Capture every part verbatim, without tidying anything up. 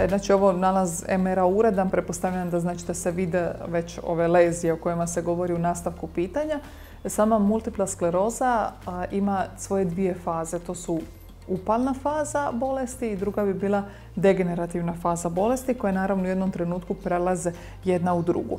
Znači, ovo nalaz em er a uredan, pretpostavljam da znači da se vide već ove lezije o kojima se govori u nastavku pitanja. Sama multipla skleroza a, ima svoje dvije faze. To su upalna faza bolesti i druga bi bila degenerativna faza bolesti koje naravno u jednom trenutku prelaze jedna u drugu.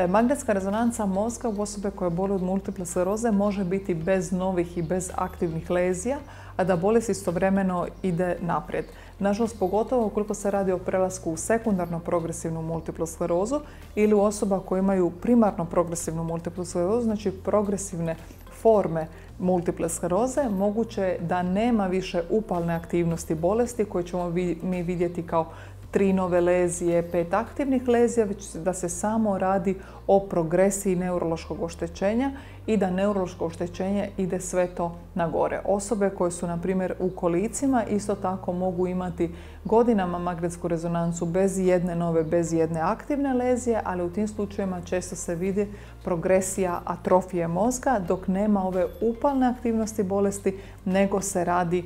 Magnetska rezonanca mozga u osobe koje boluju od multiple skleroze može biti bez novih i bez aktivnih lezija, a da bolest istovremeno ide naprijed. Nažalost, pogotovo ukoliko se radi o prelasku u sekundarno progresivnu multiplu sklerozu ili u osoba koje imaju primarno progresivnu multiplu sklerozu, znači progresivne forme multiple skleroze, moguće je da nema više upalne aktivnosti bolesti koje ćemo mi vidjeti kao tri nove lezije, pet aktivnih lezija, već da se samo radi o progresiji neurološkog oštećenja i da neurološko oštećenje ide sve to na gore. Osobe koje su, na primjer, u kolicima isto tako mogu imati godinama magnetsku rezonancu bez jedne nove, bez jedne aktivne lezije, ali u tim slučajevima često se vidi progresija atrofije mozga dok nema ove upalne aktivnosti bolesti, nego se radi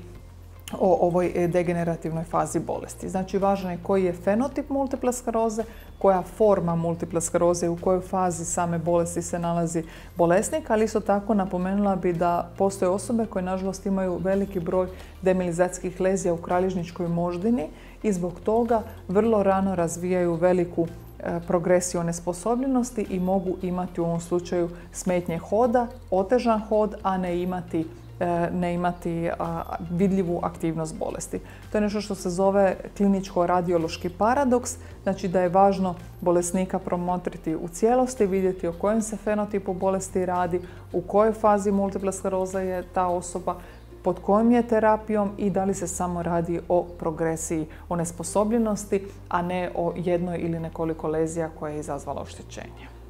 o ovoj degenerativnoj fazi bolesti. Znači, važno je koji je fenotip multiple skleroze, koja forma multiple skleroze i u kojoj fazi same bolesti se nalazi bolesnik, ali isto tako napomenula bi da postoje osobe koje nažalost imaju veliki broj demilizacijskih lezija u kralježničkoj moždini i zbog toga vrlo rano razvijaju veliku progresiju onesposobljenosti i mogu imati u ovom slučaju smetnje hoda, otežan hod, a ne imati ne imati vidljivu aktivnost bolesti. To je nešto što se zove kliničko-radiološki paradoks, znači da je važno bolesnika promotriti u cijelosti, vidjeti o kojem se fenotipu bolesti radi, u kojoj fazi multiple skleroze je ta osoba, pod kojom je terapijom i da li se samo radi o progresiji onesposobljenosti, a ne o jednoj ili nekoliko lezija koja je izazvala oštećenje.